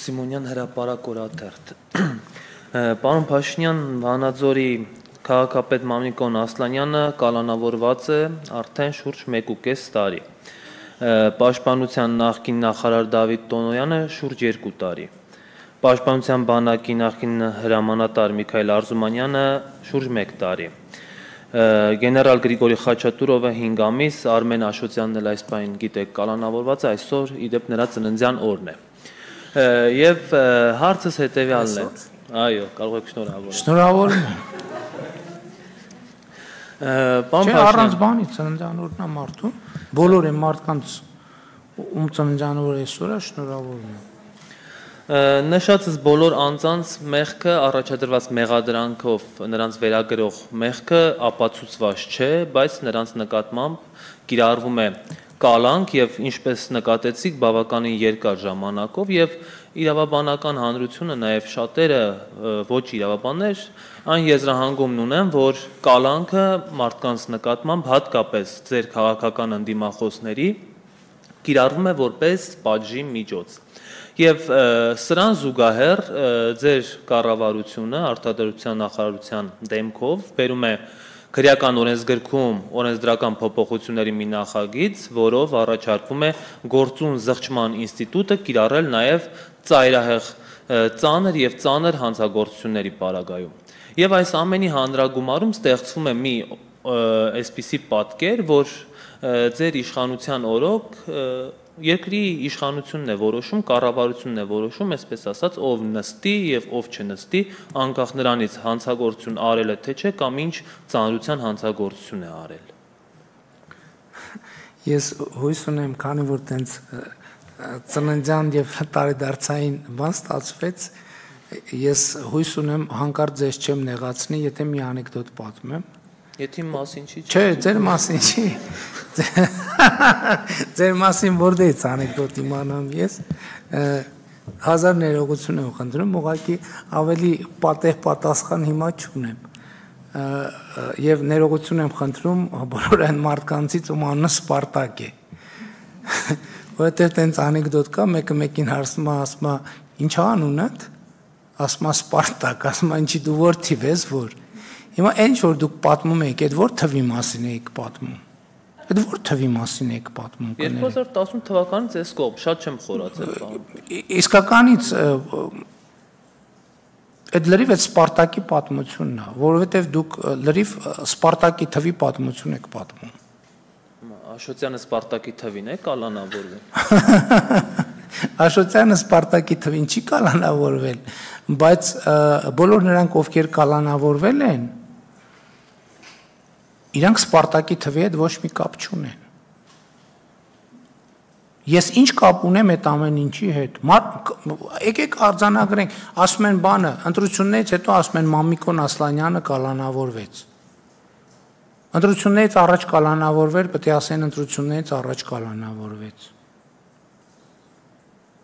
Սիմոնյան հրապարակ օրաթերթ։ Պարոն Փաշինյան, Վանաձորի քաղաքապետ Մամիկոն Ասլանյանը կալանավորված է արդեն շուրջ 1.5 տարի։ Պաշտպանության նախկին նախարար Դավիթ Տոնոյանը շուրջ 2 տարի։ Պաշտպանության բանակի նախկին հրամանատար Միքայել Արզումանյանը շուրջ 1 տարի։ Գեներալ Գրիգորի Խաչատուրովը 5 ամիս, Արմեն Աշոտյանն էլ այս պահին գիտեք կալանավորված է, այսօր իդեպ նրա ծննդյան օրն է։ Եվ հարցս հետևյալն է։ Այո, կարող եք շնորհավորել։ Շնորհավորում եմ։ Պարոն Չէ, առանց բանի ծննդյան օրն է մարդու։ Բոլոր այն մարդկանց ում ծննդյան օրը այսօր է, շնորհավորում եմ։ Նշածս բոլոր անձանց մեղքը առաջադրված մեղադրանքով նրանց վերագրող մեղքը ապացուցված չէ, բայց նրանց նկատմամբ կիրառվում է կալանք եւ ինչպես նկատեցիք բավականին երկար ժամանակով եւ իրավաբանական հանրությունը նաեւ շատերը ոչ իրավաբաններ այն եզրահանգումն ունեն, որ կալանքը մարդկանց նկատմամբ հատկապես ձեր քաղաքական ընդդիմախոսների կիրառվում է որպես պատժի միջոց։ Եվ սրան զուգահեռ ձեր կառավարությունը արտադրության նախարարության դեմքով բերում է քրեական օրենսգրքում օրենսդրական փոփոխությունների մի նախագիծ, որով առաջարկվում է գործուն զղջման ինստիտուտը կիրառել նաև ծայրահեղ ծանր եւ ծանր հանցագործությունների պարագայում։ Եվ այս ամենի հանրագումարում ստեղծվում է մի այսպիսի պատկեր, որ ձեր իշխանության օրոք երկրի իշխանությունն է որոշում, կառավարությունն է որոշում, այսպես ասած, ով նստի եւ ով չնստի, անկախ նրանից հանցագործություն արել է թե չէ, կամ ինչ ծանրության հանցագործություն է արել։ Ես հույս ունեմ, քանի որ տենց ծննդյան եւ տարեդարձային բան ստացվեց, ես հույս ունեմ հանկարծ ձեզ չեմ նեղացնի, եթե մի անեկդոտ պատմեմ։ Եթե իմ մասին չի։ Չէ, ձեր մասին չի։ Ձեր մասին որտեղից անեկդոտ իմանամ ես։ Հազար ներողություն եմ խնդրում, ուղղակի ավելի պատեհ պատասխան հիմա չունեմ։ Եվ ներողություն եմ խնդրում բոլոր այն մարդկանցից, ում անունը Սպարտակ է։ Որովհետև տենց անեկդոտ կա, մեկը մեկին հարցնում է, ասում է, ի՞նչ է անունդ։ Ասում է Սպարտակ, ասում է, ինչի դու որ թիվ ես, որ։ Հիմա այն որ դուք պատմում եք, այդ որ թվի մասին եք պատմում։ Այդ որ թվի մասին եք պատմում։ 2010 թվականից այս կողմ, շատ չեմ խորացել բան։ Իսկականից այդ լրիվ այդ Սպարտակի պատմությունն է, որովհետև դուք լրիվ Սպարտակի թվի պատմություն եք պատմում։ Աշոտյանը Սպարտակի թվին է կալանավորվել։ Աշոտյանը Սպարտակի թվին չի կալանավորվել, բայց բոլոր նրանք, ովքեր կալանավորվել են, իրանք Սպարտակի թվի հետ ոչ մի կապ չունեն։ Ես ինչ կապ ունեմ այդ ամեն ինչի հետ։ Եկեք արձանագրենք, ասում են բանը, ընտրություններից հետո ասում են Մամիկոն Ասլանյանը կալանավորվեց։ Ընտրություններից առաջ կալանավորվել, պետք է ասեն ընտրություններից առաջ կալանավորվեց։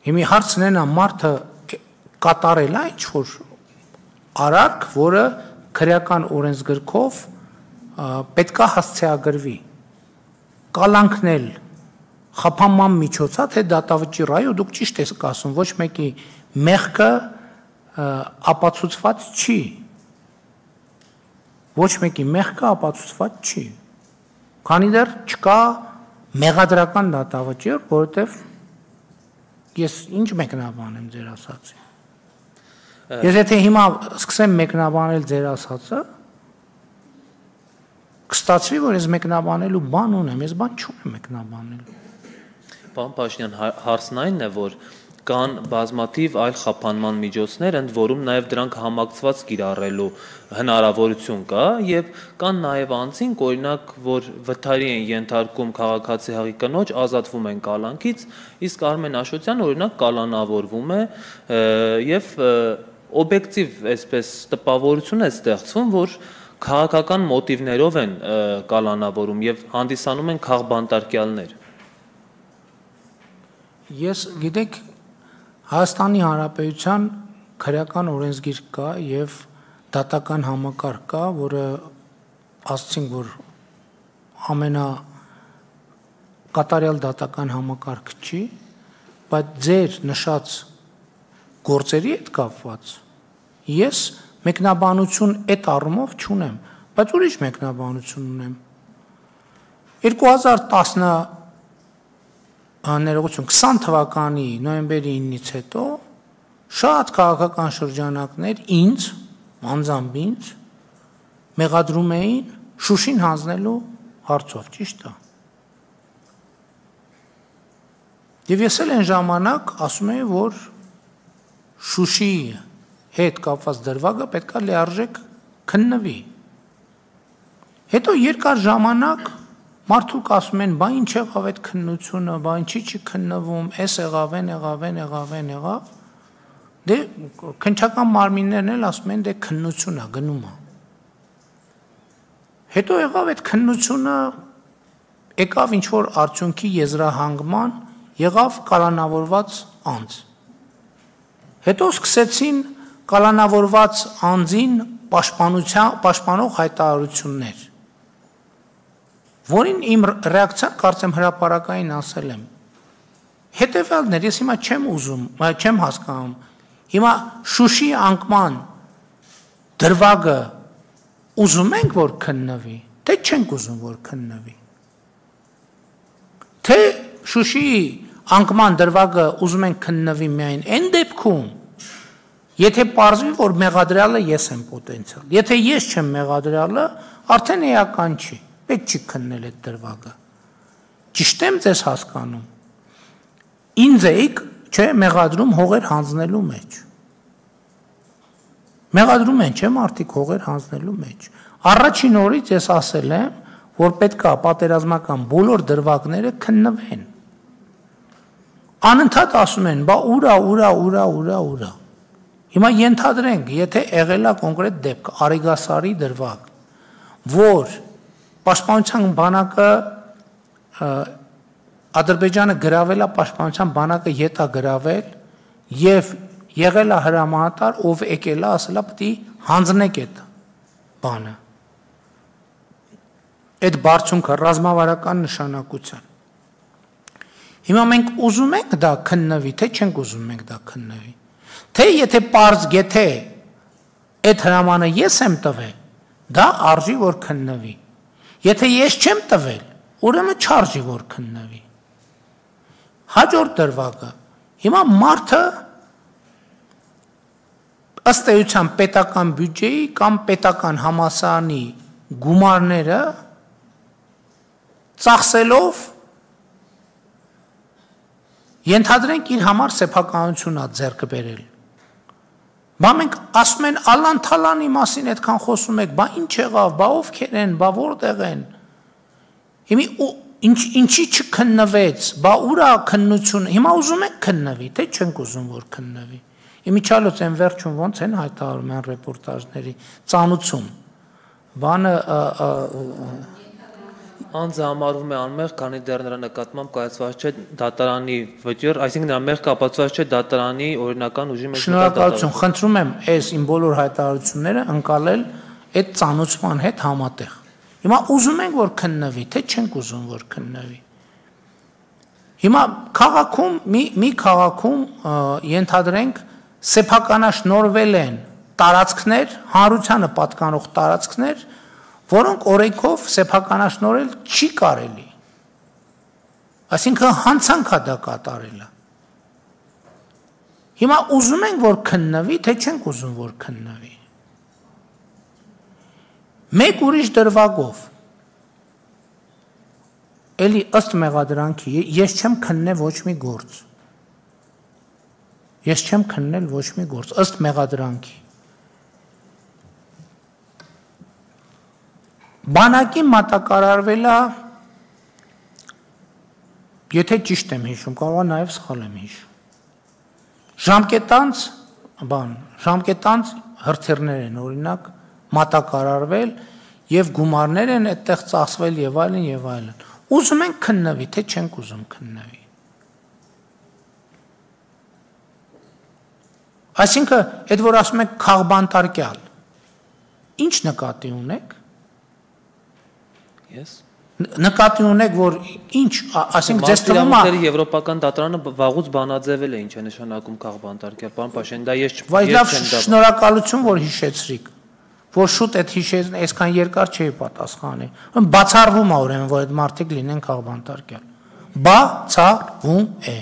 Հիմա հարցն են, մարդը կատարել է ինչ-որ արարք, որը քրեական օրենսգրքով պետք է հասցեագրվի։ Կալանքնել խափանման միջոցա, թե դատավճիռ, այո, դուք ճիշտ եք ասում, ոչ մեկի մեղքը ապացուցված չի։ Ոչ մեկի մեղքը ապացուցված չի։ Քանի դեռ չկա մեղադրական դատավճիռ, որովհետև ես ինչ մեկնաբանեմ ձեր ասածի։ Ես եթե հիմա սկսեմ մեկնաբանել ձեր ասածը, կստացվի, որ ես մեկնաբանելու բան ունեմ, ես բան չունեմ մեկնաբանելու։ Պարոն Փաշինյան, հարցն այն է, որ կան բազմաթիվ այլ խափանման միջոցներ, ընդ որում նաև դրանք համակցված կիրառելու հնարավորություն կա, եւ կան նաև անձինք, օրինակ, որ վթարի են ենթարկում քաղաքացի հղի կնոջ, ազատվում են կալանքից, իսկ Արմեն Աշոտյանը օրինակ կալանավորվում է եւ օբյեկտիվ այսպես տպավորություն է ստեղծվում, որ քաղաքական մոտիվներով են կալանավորում եւ հանդիսանում են քաղբանտարկյալներ։ Ես գիտեք Հայաստանի Հանրապետության քրեական օրենսգիր կա եւ դատական համակարգ կա, որը ասացինք, որ ամենա կատարյալ դատական համակարգ չի, բայց ձեր նշած գործերի հետ կապված ես մեկնաբանություն այդ առումով չունեմ, բայց ուրիշ մեկնաբանություն ունեմ։ 2020 թվականի նոյեմբերի 9-ից հետո շատ քաղաքական շրջանակներ ինձ, անձամբ ինձ մեղադրում էին Շուշին հանձնելու հարցով, ճիշտ է։ Եվ ես էլ այն ժամանակ ասում եմ, որ Շուշի հետ կապված դրվագը պետք է լիարժեք քննվի։ Հետո երկար ժամանակ մարդուկ ասում են, բա ինչ եղավ այդ քննությունը, բա ինչի չի քննվում, էս եղավ, եղավ։ Դե քննչական մարմիններն էլ ասում են, դե քննություն է, գնում է։ Հետո եղավ այդ քննությունը, եկավ ինչ-որ արդյունքի եզրահանգման, եղավ կալանավորված անձ։ Հետո սկսեցին կալանավորված անձին պաշտպանող հայտարարություններ, որին իմ ռեակցիան կարծեմ հրապարակային ասել եմ։ Հետևյալն էր, ես հիմա չեմ հասկանում, հիմա Շուշի անկման դրվագը ուզում ենք, որ քննվի, թե չենք ուզում, որ քննվի։ Թե Շուշիի անկման դրվագը ուզում ենք քննվի միայն այն դեպքում, եթե պարզվի, որ մեղադրյալը ես եմ պոտենցիալ։ Եթե ես չեմ մեղադրյալը, արդեն էական չի, պետք չի քննել այդ դրվագը։ Ճիշտ եմ ձեզ հասկանում։ Ինձ էիք, չէ, մեղադրում հողեր հանձնելու մեջ։ Մեղադրում են, չէ, մարդիկ հողեր հանձնելու մեջ։ Առաջին օրից ես ասել եմ, որ պետք է պատերազմական բոլոր դրվագները քննվեն։ Անընդհատ ասում են, բա ուրա։ Հիմա ենթադրենք, եթե եղել է կոնկրետ դեպք, Արիգասարի դրվագ, որ պաշտպանության բանակը Ադրբեջանը գրավել է պաշտպանության բանակը ետ է գրավել եւ եղել է հրամանատար, ով եկել է, ասել է պետք է հանձնեք այդ բանը։ Այդ բարձունքը ռազմավարական նշանակության։ Հիմա մենք ուզում ենք դա քննվի, թե չենք ուզում մենք դա քննվի։ Թե եթե պարզ գեթե այդ հրամանը ես եմ տվել, դա արժի որ քննվի։ Եթե ես չեմ տվել, ուրեմն չարժի որ քննվի։ Հաջորդ դրվագը։ Հիմա մարդը ըստ էության պետական բյուջեի կամ պետական համալսարանի գումարները ծախսելով ենթադրենք իր համար սեփականություն է ձեռք բերել։ Բա մենք ասում են Ալան-Թալանի մասին այդքան խոսում եք, բա ինչ եղավ, բա ովքեր են, բա որտեղ են։ Հիմա ինչի չքննվեց, բա ուրա քննությունը, հիմա ուզում եք քննվի, թե չենք ուզում որ քննվի։ Իմիջիալոց են վերջում ոնց են հայտարարում են ռեպորտաժների ծանուցում։ Բանը Անձը համարվում է անմեղ, քանի դեռ նրա նկատմամբ կայացված չէ դատարանի վճիռ, այսինքն նրա մեղքը ապացուցված չէ դատարանի օրինական ուժի մեջ։ Շնորհակալություն, խնդրում եմ այս իմ բոլոր հայտարարությունները ընկալել այդ ծանուցման հետ համատեղ։ Հիմա ուզում ենք որ քննվի, թե չենք ուզում որ քննվի։ Հիմա քաղաքում մի քաղաքում ենթադրենք սեփականաշնորհվել են տարածքներ, հանրությանը պատկանող տարածքներ, որոնք օրենքով սեփականաշնորհել չի կարելի։ Այսինքն հանցանք է դա կատարելը։ Հիմա ուզում ենք որ քննվի, թե չենք ուզում որ քննվի։ Մեկ ուրիշ դրվագով էլի ըստ մեղադրանքի ես չեմ քննել ոչ մի գործ։ Ես չեմ քննել ոչ մի գործ ըստ մեղադրանքի։ Բանակի մատակարարվել է, եթե ճիշտ եմ հիշում, կարող է նաև սխալ եմ հիշում։ Ժամկետանց հրթիռներ են օրինակ մատակարարվել եւ գումարներ են այդտեղ ծախսվել եւ այլն։ Ուզում ենք քննվի, թե չենք ուզում քննվի։ Այսինքն, այդ որ ասում եք քաղբանտարկյալ, ինչ նկատի ունեք։ Ես Նկատի ունեք, որ ինչ, ասենք ձեզ թվում է Եվրոպական դատարանը վաղուց բանաձևել է ինչ է նշանակում քաղբանտարկել, պարոն Փաշինյան, դա ես Բայց լավ, շնորհակալություն, որ հիշեցրիք, որ շուտ այդ հիշեցին, այսքան երկար չէի պատասխանի։ Բացառվում է ուրեմն, որ այդ մարդիկ լինեն քաղբանտարկել։ Բացառվում է։